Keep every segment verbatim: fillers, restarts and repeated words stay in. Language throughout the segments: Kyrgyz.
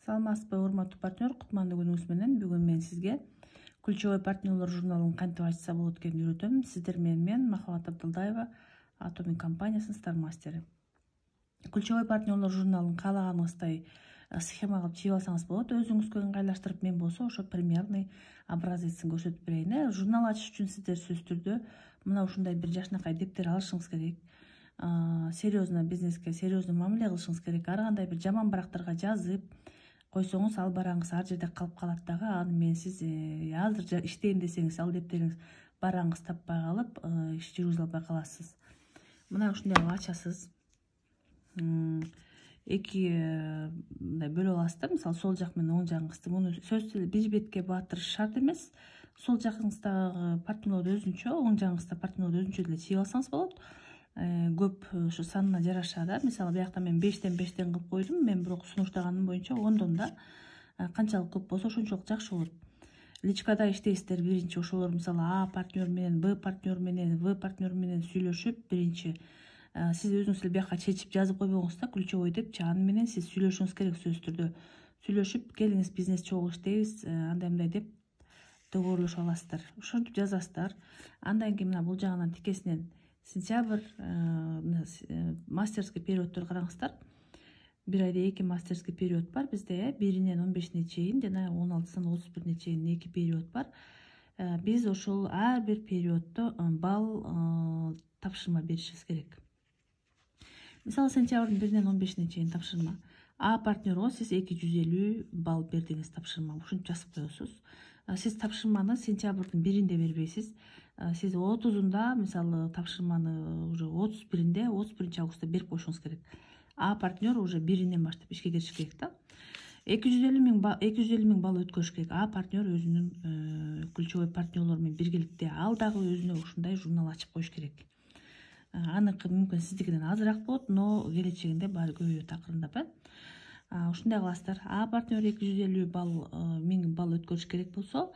Саламатсызбы, урматтуу партнер, кутмандуу күнүңүз менен. Бүгүн мен сизге Ключевой партнерлор журналын кантип ачса болот экенин үйрөтөм. Сиздер менен мен Махабат Абдылдаева, Атомик компаниясынын стар мастери. Ключевой партнерлор журналын каалаганыңыздай схема кылып чыгып алсаңыз болот. Өзүңүзгө ыңгайлаштырып, мен болсо ошо примерный образецин көрсөтүп берейин. Журнал ачыш үчүн сиздер сөзсүз түрдө мына ушундай бир жашынакай дептер алышыңыз керек. Серьезно бизнеске серьезно мамиле кылышыңыз керек. Ар кандай бир жаман барактарга жазып койсоңуз, ал бараңыз ар жерде калып калат дагы. Аны менен сиз азыр иштейм десеңиз, ал дептериңиз бараңыз таппай калып, иш жүргүзө албай каласыз. Мына ушундай кылып ачасыз. Эки мындай бөлүп аласыз да, мисалы сол жак менен оң жагыңызды. Муну сөзсүз эле бир бетке баатырыш шарт эмес. Сол жагыңыздагы партнерлор өзүнчө, оң жагыңызда партнерлор өзүнчө деле чыгып алсаңыз болот. Көп ушу санына жараша да. Мисалы биякта мен бештен бештен кылып койдум. Мен бирок сунуштаганым боюнча ондон да канчалык көп болсо ошончолук жакшы болот. Личкада иштейсиздер, биринчи ошолор мисалы А партнер менен Б партнер менен В партнер менен сүйлөшүп, биринчи сиз өзүңүз эле бияка чечип жазып койбоңуз да, ключевой депчи. Аны менен сиз сүйлөшүңүз керек, сөзсүз түрдө сүйлөшүп, келиңиз бизнес чогуу иштейбиз, андай мындай деп договорлошуп аласыздар. Ошентип жазасыздар. Андан кийин мына бул жагынан тикесинен сентябрь мастерский периодтор караңыздар. Бир айда эки мастерский период бар бизде, биринен он бешине чейин жана он алтысынан отуз бирине чейин эки период бар. Биз ошол ар бир периоддо балл тапшырма беришибиз керек. Мисалы сентябрдын биринен он бешине чейин тапшырма. А партнерго сиз эки жүз элүү балл бердиңиз тапшырма. Ушинтип жазып коесуз. Сиз тапшырманы сентябрдын биринде бербейсиз. Сиз отузунда мисалы тапшырманы уже отуз биринде, отуз биринчи августта берип коюшуңуз керек. А партнер уже биринен баштап ишке кириш керек да. эки жүз элүү миң эки жүз элүү миң балл өткөрүш керек. А партнер өзүнүн ключевой партнерлор менен биргеликте ал дагы өзүнө ушундай журнал ачып коюш керек. Аныкы мүмкүн сиздикинен азыраак болот, но келечегинде баары көбөйөт акырындап. Ушундай кыласыздар. А партнер эки жүз элүү балл миң балл өткөрүш керек болсо,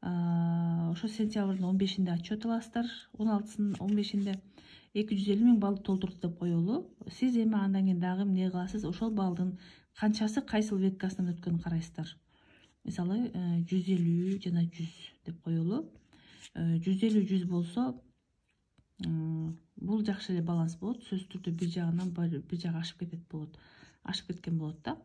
ошо сентябрдын он бешинде отчет аласыздар. он алтысынын он бешинде эки жүз элүү миң балл толтурду деп коелу. Сиз эми андан кийин дагы эмне кыласыз? Ошол баллдын канчасы кайсыл веткасынан өткөнүн карайсыздар. Мисалы жүз элүү жана жүз деп коелу. жүз элүү жүз болсо, бул жакшы эле баланс болот. Сөзсүз түрдө бир жагынан бир жагы ашып кетет болот. Ашып кеткен болот да.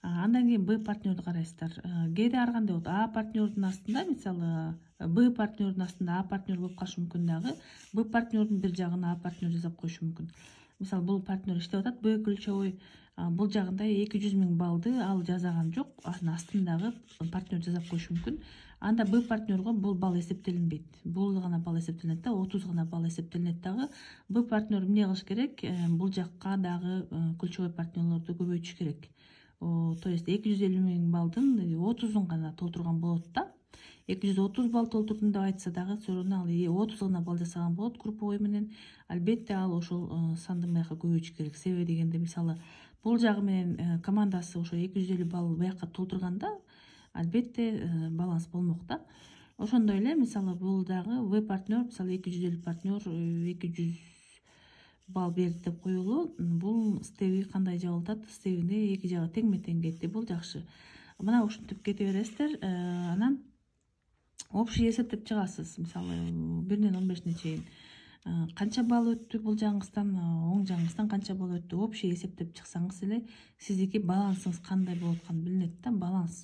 Андан кийин Б партнерди карайсыздар. Кээде ар кандай болот. А партнердин астында, мисалы Б партнердин астында А партнер болуп калышы мүмкүн дагы. Б партнердин бир жагына А партнер жасап коюшу мүмкүн. Мисалы бул партнер иштеп атат, Б ключевой бул жагында эки жүз миң баллды ал жазаган жок, анын астындагы партнер жасап коюшу мүмкүн. Анда Б партнерго бул балл эсептелинбейт. Бул гана балл эсептелинет да, отуз гана балл эсептелинет дагы. Б партнер эмне кылыш керек? Бул жакка дагы ключевой партнерлорду көбөйтүш керек. То есть эки жүз элүү миң баллдын отузун гана толтурган болот да. эки жүз отуз балл толтурдум деп айтса дагы, соорун ал отуз гана балл жасаган болот групповой менен. Албетте ал ошол санды мындайка көбөйтүш керек. Себеби дегенде, мисалы бул жагы менен командасы ошо эки жүз элүү балл бияка толтурганда, албетте баланс болмок да. Ошондой эле, мисалы бул дагы В партнер, мисалы эки жүз элүү партнер эки жүз балл берди деп коелу. Бул стеби кандай жабылып атат? Стебине эки жагы теңме тең кетти. Бул жакшы. Мына ушинтип кете бересиздер. Анан общий эсептеп чыгасыз. Мисалы биринен он бешине чейин канча балл өттү бул жагыңыздан, оң жагыңыздан канча балл өттү, общий эсептеп чыксаңыз эле сиздики балансыңыз кандай болуп атканы билинет да. Баланс.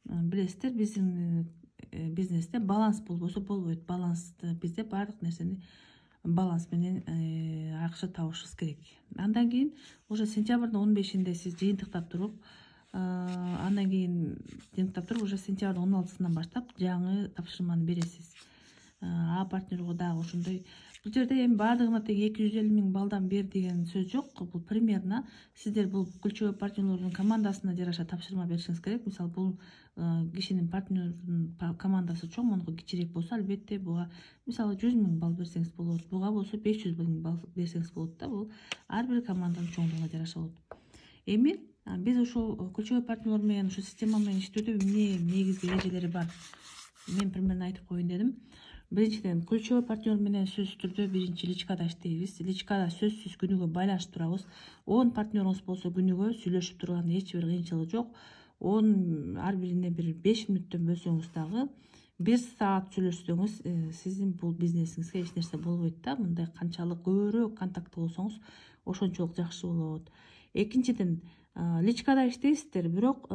Билесиздер, биздин бизнесте баланс болбосо болбойт. Балансты бизде баардык нерсени баланс менен акча табышыбыз керек. Андан кийин уже сентябрдын он бешинде сиз жыйынтыктап туруп, андан кийин жыйынтыктап туруп уже сентябрдын он алтысынан баштап жаңы тапшырманы бересиз. А партнерго дагы ошондой. Бул жерде эми баардыгына тең эки жүз элүү миң баллдан бер деген сөз жок. Бул примерно сиздер бул ключевой партнерлордун командасына жараша тапшырма беришиңиз керек. Мисалы бул кишинин партнердин командасы чоң, монуку кичирээк болсо, албетте буга мисалы жүз миң балл берсеңиз болот. Буга болсо беш жүз миң балл берсеңиз болот да. Бул ар бир команданын чоңдугуна жараша болот. Эми биз ушул ключевой партнерлор менен ушу система менен иштөөдө эмне негизги эрежелери бар? Мен примерно айтып коеюн дедим. Биринчиден, ключевой партнер менен сөзсүз түрдө биринчи личкада иштейбиз. Личкада сөзсүз күнүгө байланышып турабыз. он партнерубуз болсо күнүгө сүйлөшүп турган эч бир кыйынчылыгы жок. он ар бирине бир беш мүнөттөн бөлсөңүз дагы, бир саат сүйлөшсөңүз сиздин бул бизнесиңизге эч нерсе болбойт да. Мындай канчалык көбүрөөк контакты болсоңуз ошончолук жакшы болот. Экинчиден, личкада иштейсиздер, бирок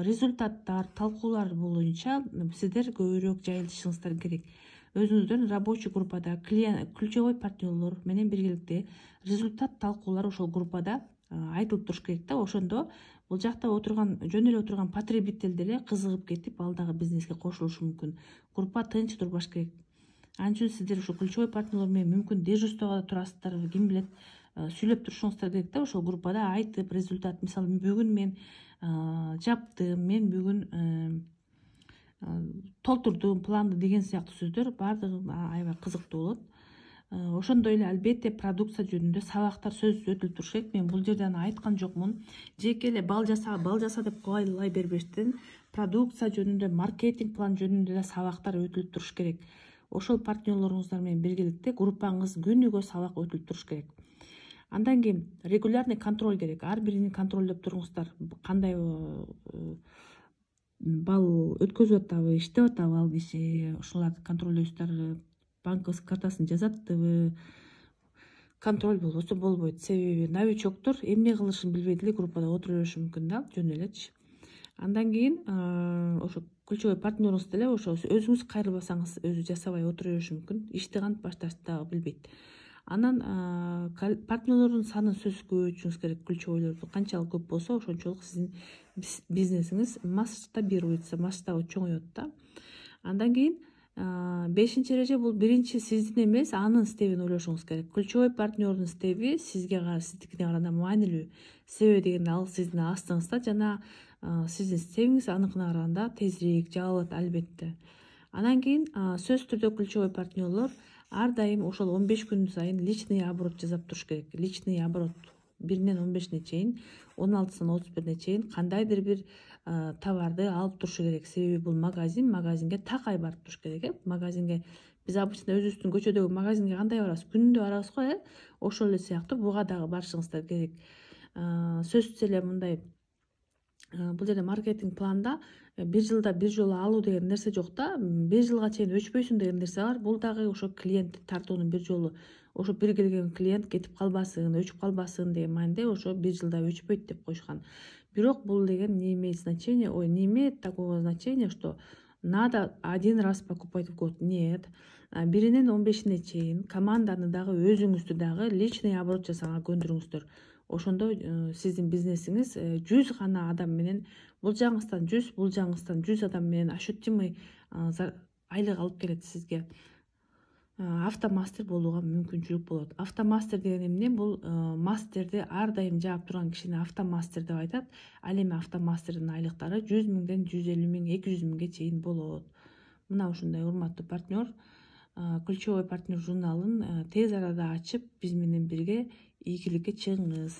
результаттар, талкуулар боюнча сиздер көбүрөөк жайылышыңыздар керек. Өзүңүздөрдүн рабочий группада ключевой партнерлор менен биргеликте результат талкуулар ошол группада айтылып туруш керек да. Ошондо бул жакта отурган, жөн эле отурган потребитель деле кызыгып кетип, ал дагы бизнеске кошулушу мүмкүн. Группа тынч турбаш керек. Анча сиздер ошо ключевой партнерлор менен мүмкүн дежурствого турасыздар, ким билет, сүйлөп турушуңуздар керек да. Ошол группада айтып, результат, мисалы бүгүн мен жаптым, мен бүгүн толтурдум планды деген сыяктуу сөздөр баардыгы аябай кызыктуу болот. Ошондой эле албетте продукция жөнүндө сабактар сөзсүз өтүлүп туруш керек. Мен бул жерде айткан жокмун. Жеке эле бал жаса, бал жаса деп кубайлай бербештен, продукция жөнүндө, маркетинг план жөнүндө да сабактар өтүлүп туруш керек. Ошол партнерлоруңуздар менен биргеликте группаңыз күнүгө сабак өтүлүп туруш керек. Андан кийин регулярный контроль керек. Ар бирин контролдоп туруңуздар. Кандай бал өткөзүп атабы, иштеп атабы ал киши, ошолорду контролдойсуздар. Банковский картасын жазаттыбы, контроль болбосо болбойт. Себеби новичоктор эмне кылышын билбей деле группада отура бериши мүмкүн да, жөн элечи. Андан кийин ошо ключевой партнеруңуз деле ошо өзүңүз кайрылбасаңыз өзү жасабай отура бериши мүмкүн. Ишти кантип башташты дагы билбейт. Анан партнерлордун санын сөзсүз көбөйтүшүңүз керек. Ключевойлорду канчалык көп болсо, ошончолук сиздин бизнесиңиз масштабируется, масштабы чоңоет да. Андан кийин бешинчи эреже бул биринчи сиздин эмес, анын стебин ойлошуңуз керек. Ключевой партнердун стеби сизге сиздикине караганда маанилүү. Себеби дегенде ал сиздин астыңызда жана сиздин стебиңиз аныкына караганда тезирээк жабылат албетте. Андан кийин сөзсүз түрдө ключевой партнерлор ар дайым ошол он беш күн сайын личный оборот жасап туруш керек. Личный оборот биринен он бешине чейин, он алтысынан отуз бирине чейин кандайдыр бир товарды алып турушу керек. Себеби бул магазин, магазинге такай барып туруш керек. Э магазинге биз обычно өзүбүздүн көчөдөгү магазинге кандай барабыз? Күнүндө барабыз го, э ошол эле сыяктуу буга дагы барышыңыздар керек. Сөзсүз эле мындай, бул жерде маркетинг планда бир жылда бир жолу алуу деген нерсе жок да. Бир жылга чейин өчпөйсүң деген нерсе бар. Бул дагы ошо клиентти тартуунун бир жолу, ошо бир келген клиент кетип калбасын, өчүп калбасын деген мааниде ошо бир жылда өчпөйт деп коюшкан. Бирок бул деген не имеет значения, ой, не имеет такого значения, что надо один раз покупать в год. Нет. Биринен он бешине чейин команданы дагы, өзүңүздү дагы личный оборот жасаганга көндүрүңүздөр. Ошондо сиздин бизнесиңиз жүз гана адам менен, бул жагыңыздан жүз, бул жагыңыздан жүз адам менен ощутимый айлык алып келет сизге. Автомастер болууга мүмкүнчүлүк болот. Автомастер деген эмне? Бул мастерди ар дайым жаап турган кишини автомастер деп айтат. Ал эми автомастердин айлыктары жүз миңден жүз элүү миң, эки жүз миңге чейин болот. Мына ушундай урматтуу партнер, ключевой партнер журналын тез арада ачып, биз менен бирге ийгиликке чыгыңыз.